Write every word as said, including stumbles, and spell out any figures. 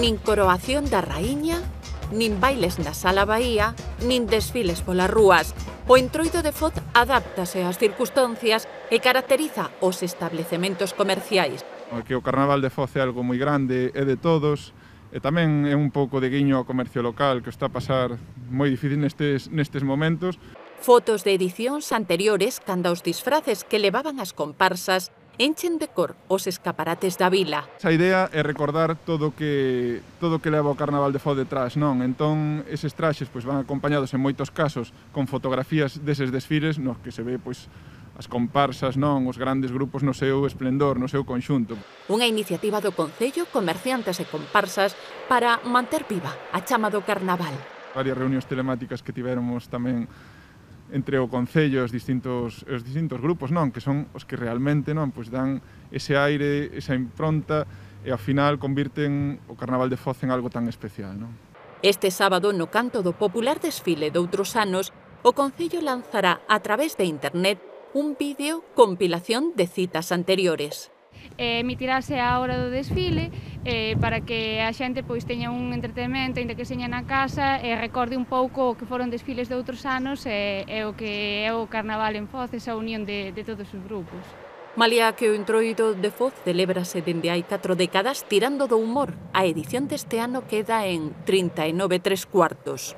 Nin coroación da raíña, nin bailes na Sala Bahía, nin desfiles polas rúas. O Entroido de Foz adáptase ás circunstancias e caracteriza os establecementos comerciais. Que o Carnaval de Foz é algo moi grande, é de todos, e tamén é un pouco de guiño ao comercio local, que está a pasar moi difícil nestes, nestes momentos. Fotos de edicións anteriores cando os disfraces que levaban as comparsas enchen de cor os escaparates da vila. A idea é recordar todo que todo que leva o Carnaval de Foz detrás, non? Entón, eses traxes pois, van acompañados en moitos casos con fotografías deses desfiles nos que se ve pois, as comparsas, non, os grandes grupos no seu esplendor, no seu conxunto. Unha iniciativa do Concello, comerciantes e comparsas para manter viva a chama do Carnaval. Varias reunións telemáticas que tivéramos tamén entre o Concello e os distintos, os distintos grupos, non, que son os que realmente non, pois dan ese aire, esa impronta e ao final convirten o Carnaval de Foz en algo tan especial, non? Este sábado, no canto do popular desfile doutros anos, o Concello lanzará a través de internet un vídeo compilación de citas anteriores. Eh, emitirase a hora do desfile eh, para que a xente pois teña un entretenimento, ainda que seña na casa, e recorde un pouco o que foron desfiles de outros anos e, e o que é o Carnaval en Foz, esa unión de, de todos os grupos. Malia que o Entroido de Foz celébrase dende hai catro décadas tirando do humor, a edición deste ano queda en trinta e nove tres cuartos.